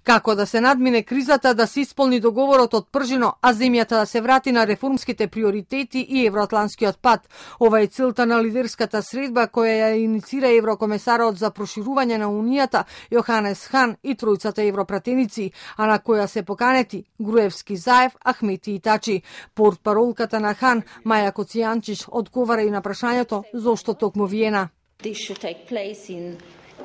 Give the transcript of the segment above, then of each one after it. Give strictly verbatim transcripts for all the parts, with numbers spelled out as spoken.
Како да се надмине кризата, да се исполни договорот од Пржино, а земјата да се врати на реформските приоритети и евроатланскиот пат. Ова е целта на лидерската средба која ја иницира еврокомесарот за проширување на Унијата Јоханес Хан и тројцата европратеници, а на која се поканети Груевски, Заев, Ахмети и Тачи. Портпаролката на Хан, Маја Коцијанчиш, одговара и на прашањето зошто токму Виена.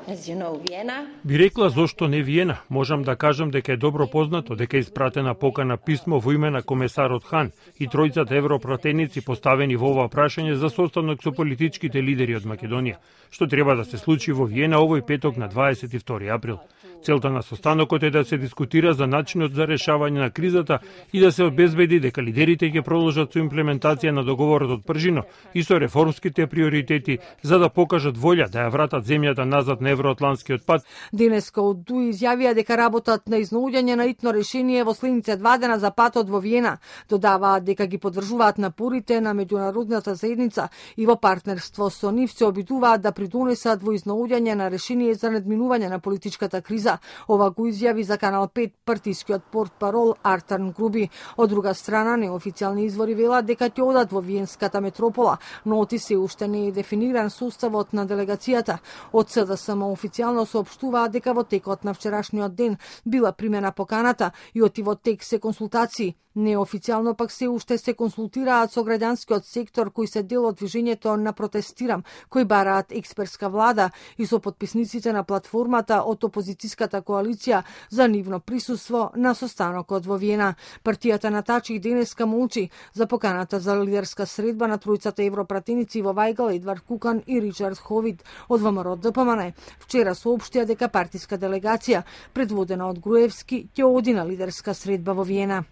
As you know, Vienna. Би рекла зошто не Виена. Можам да кажам дека е добро познато дека е испратена покана писмо во име на комесарот Хан и тројцата европратеници поставени во ова прашање за состанок со политичките лидери од Македонија, што треба да се случи во Виена овој петок на дваесет и втори април. Целта на состанокот е да се дискутира за начинот за решавање на кризата и да се обезбеди дека лидерите ќе продолжат со имплементација на договорот од Пржино и со реформските приоритети за да покажат волја да ја вратат земјата назад на евроатланскиот пат. Денеска од ДУИ изјавија дека работат на изнаоѓање на итно решение во следните два дена за патот во Виена. Додаваат дека ги поддржуваат напорите на меѓународната заедница и во партнерство со нив се обидуваат да придонесат во изнаоѓање на решение за надминување на политичката криза. Ова го изјави за Канал пет партискиот портпарол Артан Груби. Од друга страна, неофицијални извори велат дека ќе одат во Виенската метропола, но оти се уште не е дефиниран составот на делегацијата. Од СДСМ официјално соопштуваат дека во текот на вчерашниот ден била примена поканата и оти во тек се консултации. Неофицијално пак се уште се консултираат со граѓанскиот сектор кој се дел од движењето на протестирам, кои бараат експертска влада и со потписниците на платформата од опозицијската коалиција за нивно присуство на состанокот во Виена. Партијата на Тачи денеска молчи за поканата за лидерска средба на тројцата европратеници во Вајгал, Едвард Кукан и Ричард Ховид од ВМРО ДПМН. Вчера соопштија дека партиска делегација, предводена од Груевски, ќе оди на лидерска средба во Виена.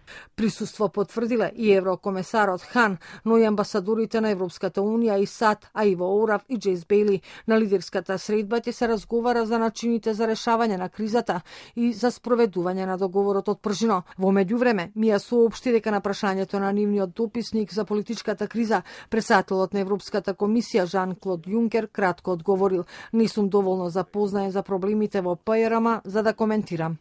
Присуство потврдиле и еврокомесарот Хан, но и амбасадорите на Европската унија и САД, а и во Орав и Джейс Бейли. На лидерската средба ќе се разговара за начините за решавање на кризата и за спроведување на договорот од Пржино. Во меѓувреме, Мија соопшти дека на прашањето на нивниот дописник за политичката криза, председателот на Европската комисија Жан-Клод Јункер кратко одговорил: "Не сум доволно запознаен за проблемите во ПРМ за да коментирам."